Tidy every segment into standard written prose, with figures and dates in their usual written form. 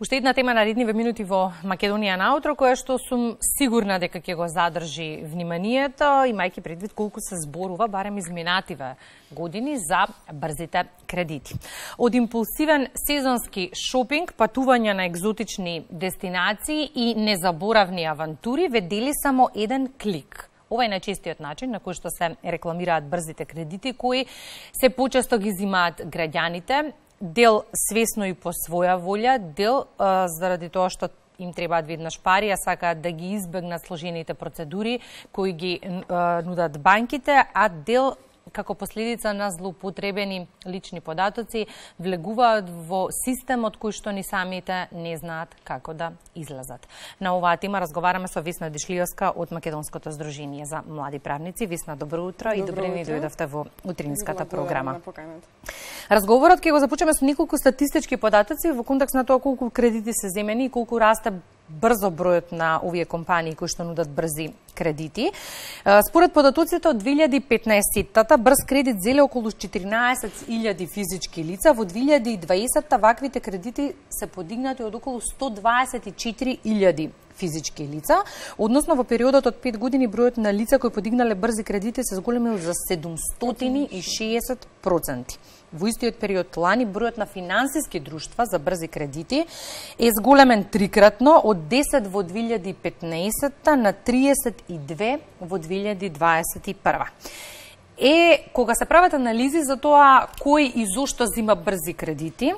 Уште една тема на редниве минути во Македонија наутро, која што сум сигурна дека ќе го задржи вниманието, имајќи предвид колку се зборува барем изминативе години за брзите кредити. Од импулсивен сезонски шопинг, патување на екзотични дестинации и незаборавни авантури ве дели само еден клик. Ова е најчестиот начин на кој што се рекламираат брзите кредити, кои се почесто ги зимаат граѓаните, дел свесно и по своја волја, дел заради тоа што им требаат веднаш пари, а сакаат да ги избегнат сложените процедури кои ги нудат банките, а дел како последица на злоупотребени лични податоци влегуваат во системот кој што ни самите не знаат како да излезат. На оваа тема разговараме со Весна Дишлиевска од Македонското здружение за млади правници. Весна, добро утро и добре ни дојдовте во утринската програма. Разговорот ќе го започнеме со неколку статистички податоци во контекст на тоа колку кредити се земени и колку расте брзо бројот на овие компании кои што нудат брзи кредити. Според податоците од 2015-та брз кредит зеле околу 14.000 физички лица, во 2020-та ваквите кредити се подигнати од околу 124.000 физички лица, односно во периодот од 5 години бројот на лица кои подигнале брзи кредити се зголемил за 760%. Во истиот период лани бројот на финансиски друштва за брзи кредити е зголемен трикратно од 10 во 2015 на 32 во 2021. Кога се прават анализи за тоа кој и зошто зима брзи кредити,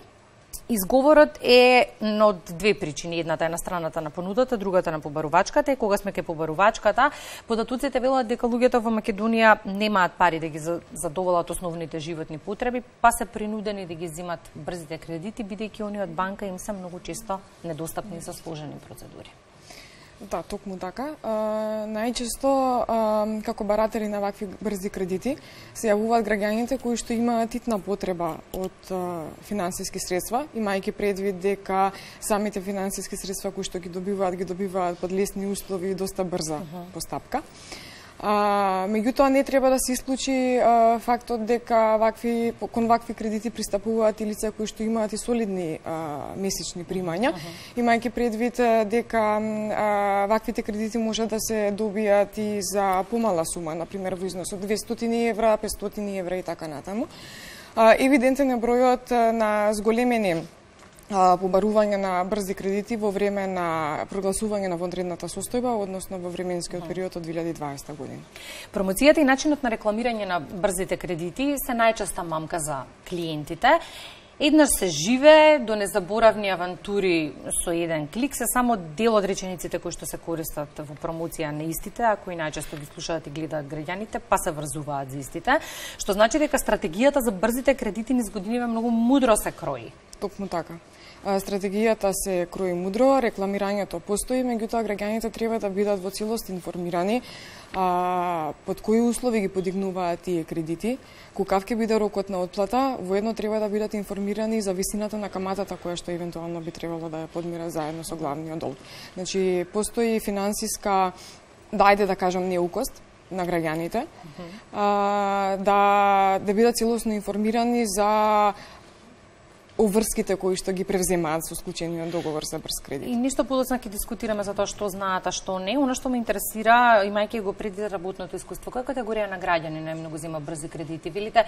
изговорот е од две причини. Едната е на страната на понудата, другата на побарувачката. И кога сме ке побарувачката, податоците велат дека луѓето во Македонија немаат пари да ги задоволат основните животни потреби, па се принудени да ги зимат брзите кредити, бидејќи они од банка им се многу често недостапни за сложени процедури. Да, токму така. Најчесто, како баратели на вакви брзи кредити, се јавуваат граѓаните кои што имаат итна потреба од финансиски средства, имајќи предвид дека самите финансиски средства кои што ги добиваат под лесни услови и доста брза постапка. Меѓутоа не треба да се исклучи фактот дека кон вакви кредити пристапуваат и лица кои што имаат и солидни месечни примања, имајќи предвид дека ваквите кредити може да се добијат и за помала сума, например во износ од 200 евра, 500 евра и така натаму. Евидентен е бројот на зголемени побарување на брзи кредити во време на прогласување на вонредната состојба, односно во временскиот период од 2020 година. Промоцијата и начинот на рекламирање на брзите кредити се најчеста мамка за клиентите. Еднаш се живе, до незаборавни авантури со еден клик се само дел од речениците кои што се користат во промоција на истите, а кои најчесто ги слушаат и гледаат граѓаните, па се врзуваат за истите, што значи дека стратегијата за брзите кредити низ годиниве многу мудро се крои. Токму така. Стратегијата се крои мудро, рекламирањето постои, меѓутоа граѓаните треба да бидат во целост информирани под кои услови ги подигнуваат тие кредити, какав ќе биде рокот на отплата, воедно треба да бидат информирани за висината на каматата која што евентуално би требало да ја подмира заедно со главниот долг. Значи, постои финансиска, да кажам, неукост на граѓаните, да бидат целосно информирани за обврските кои што ги превземаат со склучениот договор за брз кредит. И ништо подоцна ќе дискутираме за тоа што знаат, а што не. Оно што ме интересира, имајќи го предвид работното искуство, која категорија на граѓани најмногу зема брзи кредити? Велите,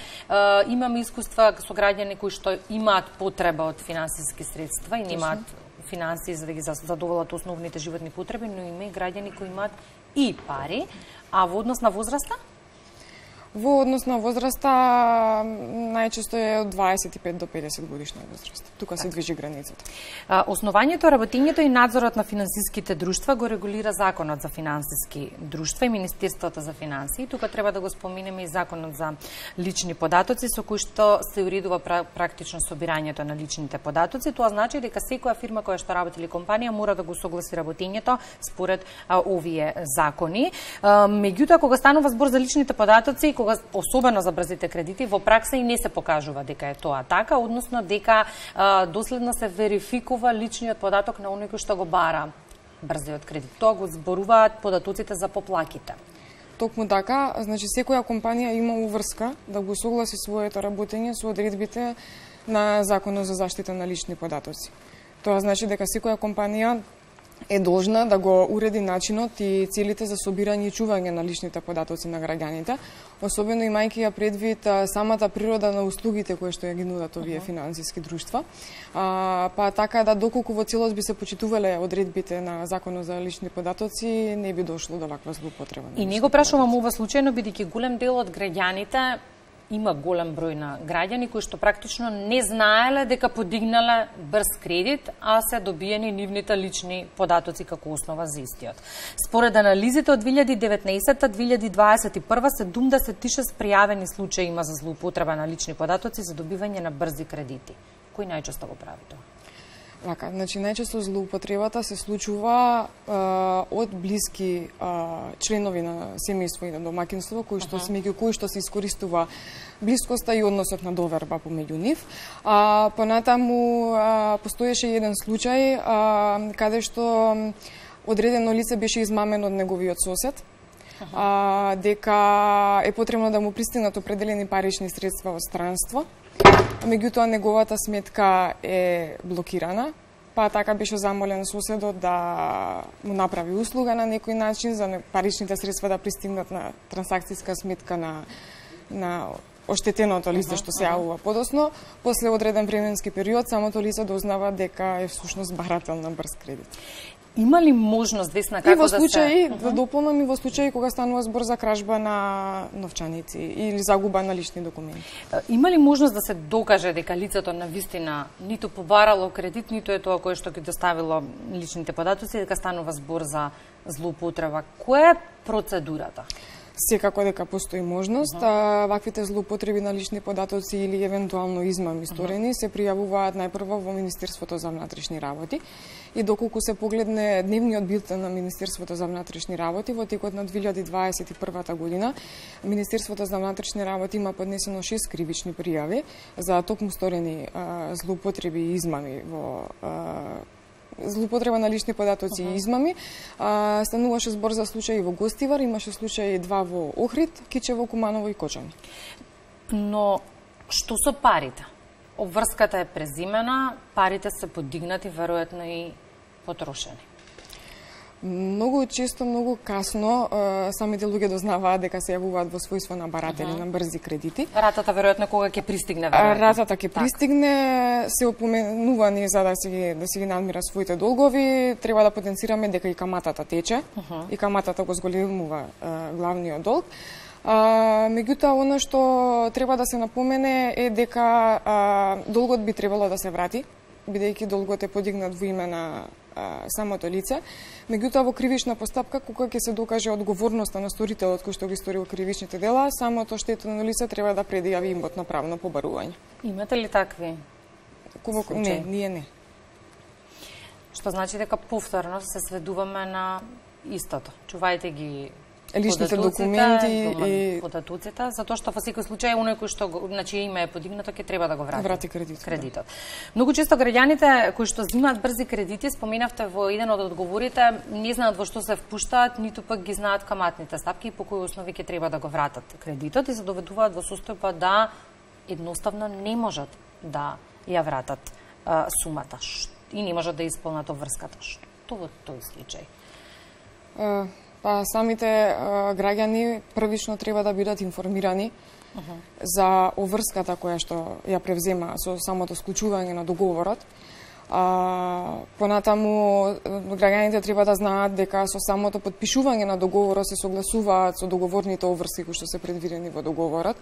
имаме искуства со граѓани кои што имаат потреба од финансиски средства и немаат финансии за да ги задоволат основните животни потреби, но има и граѓани кои имаат и пари, а во однос на возраста? Во однос на возраста, најчесто е од 25 до 50 годишна возраст. Тука се движи границата. Основањето, работењето и надзорот на финансиските друштва го регулира Законот за финансиски друштва и Министерството за финансии. Тука треба да го споменеме и Законот за лични податоци, со кој што се уредува практично собирањето на личните податоци. Тоа значи дека секоја фирма која што работи или компанија мора да го согласи работењето според овие закони. Меѓутоа, кога станува збор за личните податоци, особено за брзите кредити, во пракса и не се покажува дека е тоа така, односно дека доследно се верификува личниот податок на оној кој што го бара брзиот кредит. Тоа го зборуваат податоците за поплаките. Токму така, значи секоја компанија има уврска да го согласи своето работење со одредбите на Законот за заштита на лични податоци. Тоа значи дека секоја компанија е должна да го уреди начинот и целите за собирање и чување на личните податоци на граѓаните, особено имајќи ја предвид самата природа на услугите кои што ја ги нудат овие финансиски друштва. Па така да доколку во целост би се почитувале одредбите на Законот за лични податоци, не би дошло до ваква злоупотреба. И не го прашувам ова случајно, бидејќи голем дел од граѓаните, има голем број на граѓани кои што практично не знаеле дека подигнале брз кредит, а се добиени нивните лични податоци како основа за истиот. Според анализите од 2019-2021 76 пријавени случаи има за злоупотреба на лични податоци за добивање на брзи кредити. Кој најчесто го прави тоа? Вака, значи најчесто злоупотребата се случува од блиски членови на семејство и на домаќинство, кои што меѓу кои што се искористува блискоста и односот на доверба помеѓу нив. Понатаму постоеше еден случај каде што одредено лице беше измамено од неговиот сосед, дека е потребно да му пристигнат определени парични средства од странство. Меѓутоа неговата сметка е блокирана, па така беше замолен соседот да му направи услуга на некој начин за паричните средства да пристигнат на трансакцијска сметка на оштетеното лице што се јавува подоцно. После одреден временски период самото лице дознава дека е всушност барател на брз кредит. Има ли можност, Весна, како да се... И во случаи, да дополнам, и во случаи кога станува збор за кражба на новчаници или загуба на лични документи. Има ли можност да се докаже дека лицето навистина ниту побарало кредит, ниту е тоа кое што ги доставило личните податоци, дека станува збор за злоупотреба? Која е процедурата? Секако дека постои можност, ваквите злоупотреби на лични податоци или евентуално измами сторени се пријавуваат најпрво во Министерството за внатрешни работи и доколку се погледне дневниот билтен на Министерството за внатрешни работи во текот на 2021 година, Министерството за внатрешни работи има поднесено 6 кривични пријави за токму сторени злоупотреби и измами во злоупотреба на лични податоци и измами. Стануваше збор за случаи во Гостивар, имаше случаи 2 во Охрид, Кичево, Куманово и Кочани. Но што со парите? Обврската е презимена, парите се подигнати, веројатно и потрошени. Многу често, многу касно, самите луѓе дознаваат дека се јавуваат во својство на баратели на брзи кредити. Ратата веројатно кога ќе пристигне веројатно. Ратата ќе пристигне, се опоменувани за да си ги надмира своите долгови, треба да потенцираме дека и каматата тече, и каматата го зголемува главниот долг. Меѓутоа, она што треба да се напомене е дека долгот би требало да се врати, бидејќи долгот е подигнат во име на самото лице. Меѓутоа, во кривична постапка, кога ќе се докаже одговорноста на сторителот кој што ги сторил кривичните дела, самото оштетено лице треба да предјави имотно правно побарување. Имате ли такви случаи? Не, ние не. Што значи дека повторно се сведуваме на истото. Чувајте ги личните документи и податоците, затоа што во секој случај оној кој што значи име е подигнато ќе треба да го врати кредитот. Да. Многу често граѓаните кои што земаат брзи кредити, споменавте во еден од одговорите, не знаат во што се впуштаат, ниту пак ги знаат каматните ставки и по кои основи ќе треба да го вратат кредитот и се доведуваат во состојба да едноставно не можат да ја вратат сумата и не можат да исполнат обврската. Што во тој случај? Па самите граѓани првично треба да бидат информирани за обврската која што ја превзема со самото склучување на договорот. Понатаму граѓаните треба да знаат дека со самото подпишување на договорот се согласуваат со договорните обврски кои што се предвидени во договорот.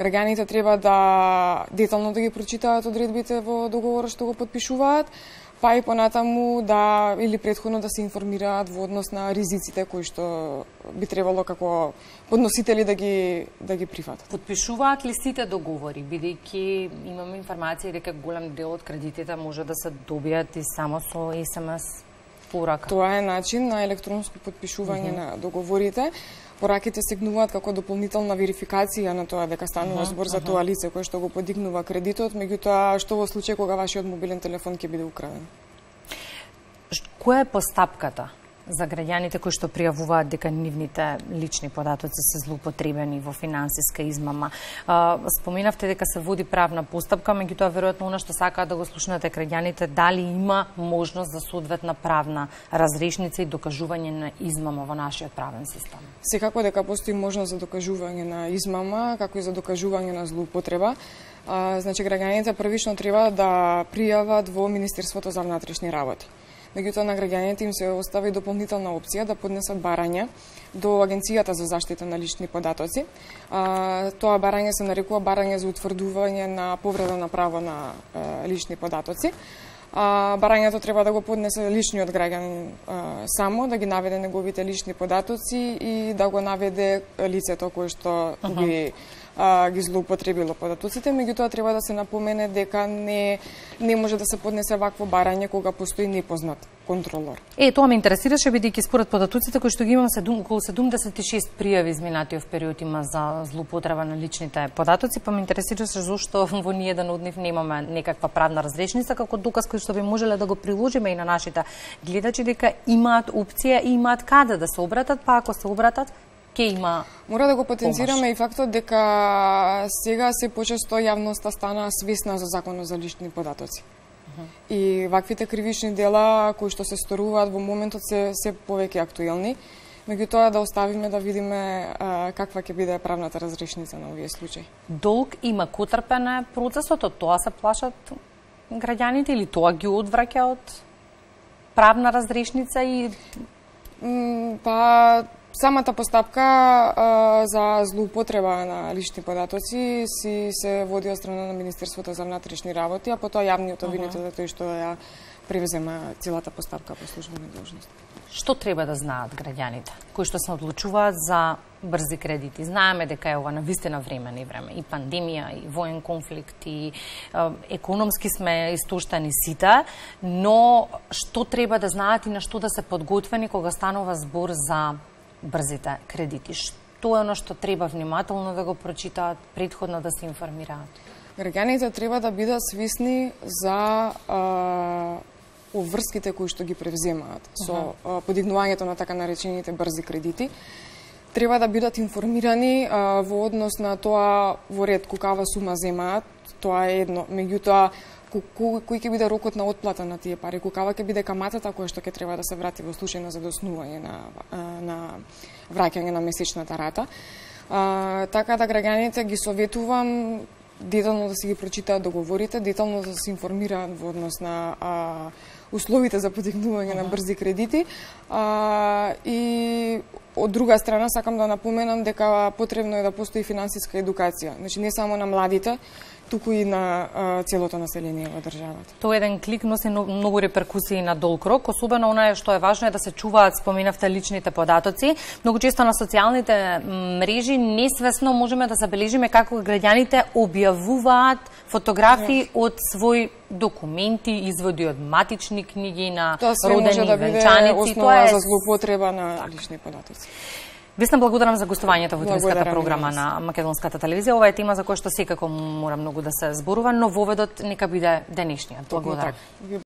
Граѓаните треба да детално да ги прочитаат одредбите во договорот што го подпишуваат, па и понатаму да или претходно да се информираат во однос на ризиците кои што би требало како подносители да ги прифатат. Подпишуваат ли сите договори, бидејќи имаме информација дека голем дел од кредитите може да се добијат и само со SMS порака? Тоа е начин на електронско подпишување на договорите. Пораките сегнуваат како дополнителна верификација на тоа дека станува збор за тоа лице кое што го подигнува кредитот, меѓутоа што во случај кога вашиот мобилен телефон ќе биде украден? Која е постапката за граѓаните кои што пријавуваат дека нивните лични податоци се злоупотребени во финансиска измама. Споменавте дека се води правна постапка, меѓутоа веројатно она што сакаат да го слушнете граѓаните, дали има можност за соодветна правна разрешница и докажување на измама во нашиот правен систем? Секако дека постои можност за докажување на измама, како и за докажување на злоупотреба. Значи, граѓаните првично треба да пријават во Министерството за внатрешни работи. Меѓутоа, на граѓаните им се остави дополнителна опција да поднесат барање до Агенцијата за заштита на лични податоци. Тоа барање се нарекува барање за утврдување на повреда на право на лични податоци. Барањето треба да го поднесе личниот граѓанин само, да ги наведе неговите лични податоци и да го наведе лицето кое што ги злоупотребило податоците, меѓутоа треба да се напомене дека не може да се поднесе вакво барање кога постои непознат контролор. Тоа ме интересираше, бидејќи според податоците кои што ги имам, околу 76 пријави изминатиот период има за злоупотреба на личните податоци, па ме интересираше зошто во ниеден од нив немаме некаква правна разрешница како доказ кој што би можеле да го приложиме и на нашите гледачи дека имаат опција и имаат каде да се обратат, па ако се обратат, мора да го потенцираме и фактот дека сега се почесто јавноста стана свесна за законот за лични податоци. И ваквите кривични дела кои што се сторуваат во моментот се повеќе актуелни, меѓутоа да оставиме да видиме каква ќе биде правната разрешница на овие случаи. Долг има котрпене процесот, од тоа се плашат граѓаните или тоа ги одвраќа од правна разрешница и самата постапка за злоупотреба на лични податоци се води од страна на Министерството за внатрешни работи, а потоа јавниот обвинител тој што ја превзема целата постапка по службена должност. Што треба да знаат граѓаните кои што се одлучуваат за брзи кредити? Знаеме дека е ова навистина време и пандемија, и воен конфликт, и економски сме истоштени сите, но што треба да знаат и на што да се подготвени кога станува збор за брзите кредити? Што е оно што треба внимателно да го прочитаат, претходно да се информираат? Граѓаните треба да бидат свесни за обврските кои што ги превземаат со подигнувањето на така наречените брзи кредити. Треба да бидат информирани во однос на тоа во ред колкава сума земаат, тоа е едно. Меѓутоа, кој ќе биде рокот на отплата на тие пари, колкава ќе биде каматата која што ќе треба да се врати во случај на задоснување на враќање на месечната рата. Така да граѓаните ги советувам детално да си ги прочитаат договорите, детално да се информираат во однос на условите за подигнување на брзи кредити. И од друга страна сакам да напоменам дека потребно е да постои финансиска едукација, значи не само на младите, туку и на целото население во државата. Тоа еден клик носи многу реперкусии на долг рок, особено онае што е важно е да се чуваат, споменавте, личните податоци. Многу често на социјалните мрежи несвесно можеме да забележиме како граѓаните објавуваат фотографии од своји документи, изводи од матични книги, на родени да венчаници. Тоа е за злоупотреба на лични податоци. Весна, благодарам за гостувањето во утрешката програма на Македонската телевизија. Ова е тема за која што секако мора многу да се зборува, но воведот нека биде денешниот. Благодарам.